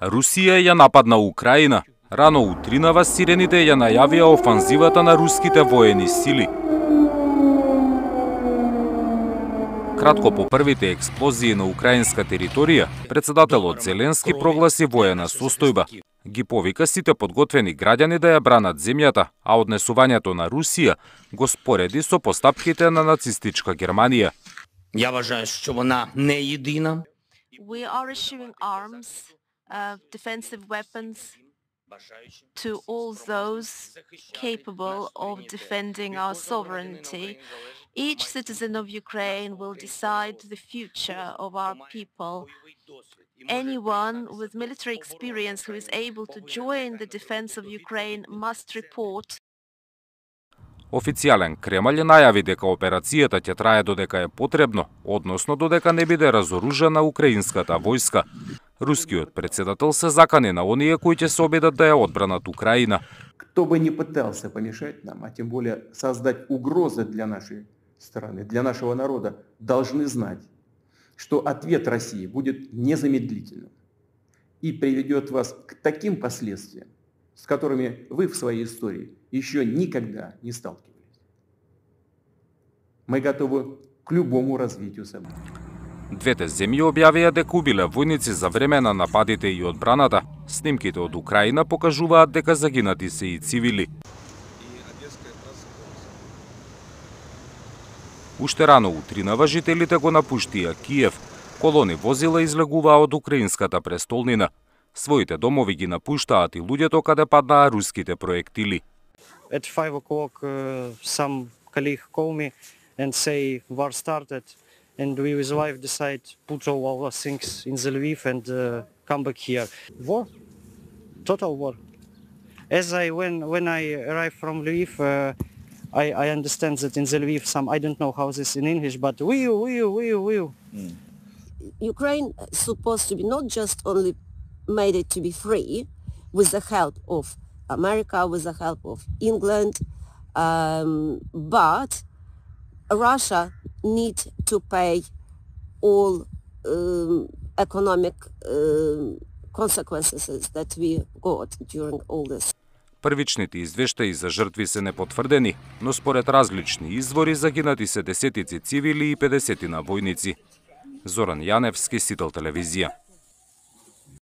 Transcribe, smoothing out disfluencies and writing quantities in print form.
Русија ја нападна Украина. Рано утринава сирените ја најавија офанзивата на руските воени сили. Кратко по првите експлозии на украинска територија, председателот Зеленски прогласи воена состојба. Ги повика сите подготвени граѓани да ја бранат земјата, а однесувањето на Русија го спореди со постапките на нацистичка Германија. Я вважаю, що вона не єдина. We are issuing arms, defensive weapons to all those capable of defending our sovereignty. Each citizen of Ukraine will decide the future of our people. Anyone with military experience who is able to join the defense of Ukraine must report. Официјален Кремљ најави дека операцијата ќе трае додека е потребно, односно додека не биде разоружена украинската војска. Рускиот председател се закани на оние кои ќе се обидат да ја одбранат Украина. Кто бы ни пытался помешать нам, а тем более создать угрозы для нашей страны, для нашего народа, должны знать, что ответ России будет незамедлительным и приведет вас к таким последствиям, с которыми вы в своей истории еще никогда не сталкивались. Мы готовы к любому развитию событий. Двете земји објавија дека убиле војници за време на нападите и одбраната. Снимките од Украина покажуваат дека загинати се и цивили. Уште рано утринава жителите го напуштија Киев. Колони возила излегуваа од украинската престолнина. Своите домови ги напуштаат и луѓето каде паднаа руските проектили. At 5 o'clock, some colleague call me and say war started, and we with wife decide put all our things in the Lviv and come back here. War, total war. As when I arrived from Lviv, I understand that in the Lviv some, I don't know how this in English, but will. Ukraine is supposed to be not just only made it to be free with the help of America, with the help of England, but Russia need to pay all economic consequences that we got during all this. Првичните извештаи за жртви се непотврдени, но според различни извори загинати се десетици цивили и 50 војници. Зоран Јаневски, Сител телевизија.